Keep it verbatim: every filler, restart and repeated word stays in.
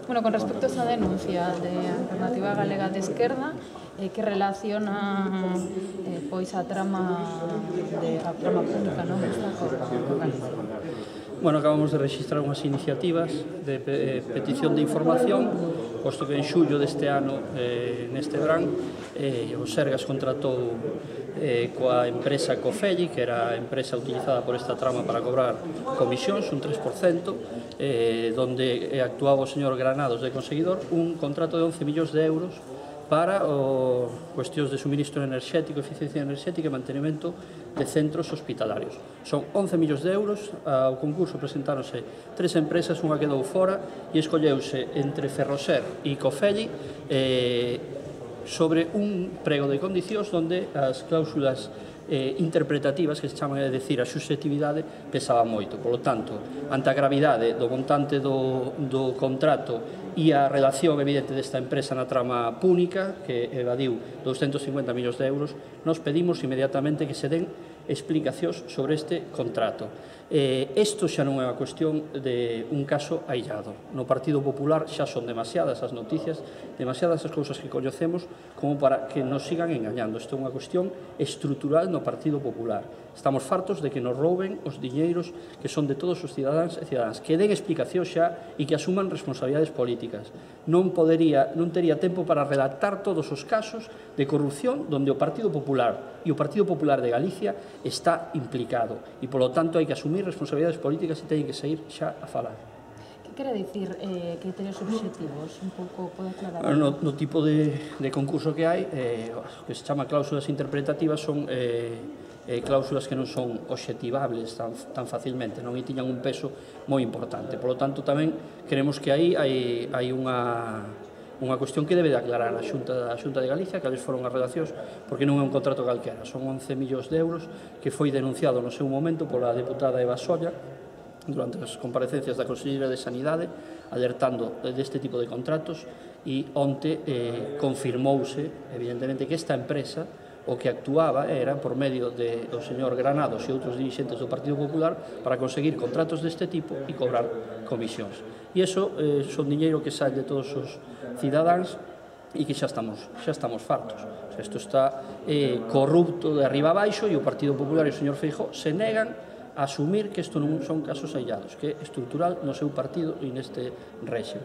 Bueno, con respecto a esa denuncia de Alternativa Galega de Esquerda, eh, que relaciona eh, pois a trama de a trama pública, non? Esta co, co Galicia. Bueno, acabamos de registrar unhas iniciativas de eh, petición de información, posto que en xullo deste ano, eh, neste verán, eh, o Sergas contratou eh, coa empresa Cofelli, que era a empresa utilizada por esta trama para cobrar comisións, un tres por cento, eh, donde actuaba o señor Granados de Conseguidor, un contrato de once millóns de euros para o cuestións de suministro enerxético, eficiencia enerxética e mantenimento de centros hospitalarios. Son once millóns de euros, ao concurso presentáronse tres empresas, unha quedou fora e escolleuse entre Ferroser e Cofelli eh, sobre un prego de condicións onde as cláusulas eh, interpretativas, que se chaman a decir a subjetividade, pesaban moito. Por lo tanto, ante a gravidade do montante do, do contrato e a relación evidente desta empresa na trama púnica, que evadiu douscentos cincuenta millóns de euros, nos pedimos inmediatamente que se den explicacións sobre este contrato. Eh, isto xa non é unha cuestión de un caso aillado. No Partido Popular xa son demasiadas as noticias, demasiadas as cousas que coñecemos como para que nos sigan engañando. Isto é unha cuestión estrutural no Partido Popular. Estamos fartos de que nos rouben os diñeiros que son de todos os cidadáns e cidadáns. Que den explicación xa e que asuman responsabilidades políticas. Non podería, non tería tempo para redactar todos os casos de corrupción onde o Partido Popular e o Partido Popular de Galicia está implicado. E, polo tanto, hai que asumir responsabilidades políticas e teñen que sair xa a falar. Que quere dicir eh, criterios objetivos? Un pouco pode aclarar? No, no tipo de, de concurso que hai, eh, que se chama cláusulas interpretativas, son eh, eh, cláusulas que non son objetivables tan, tan facilmente, non? E tiñan un peso moi importante. Por lo tanto, tamén queremos que aí hai, hai unha... unha cuestión que debe de aclarar a Xunta, a Xunta de Galicia, cales foron as redaccións, porque non é un contrato calquera, son once millóns de euros que foi denunciado no seu momento pola deputada Eva Solla durante as comparecencias da Conselleira de Sanidade, alertando deste tipo de contratos, e onte eh, confirmouse, evidentemente, que esta empresa o que actuaba era por medio de, do señor Granados e outros dirixentes do Partido Popular para conseguir contratos deste tipo e cobrar comisións. E iso eh, son diñeiro que sai de todos os cidadáns e que xa estamos, xa estamos fartos. O sea, isto está eh, corrupto de arriba a baixo e o Partido Popular e o señor Feijóo se negan a asumir que isto non son casos aillados, que é estrutural no seu partido e neste réxime.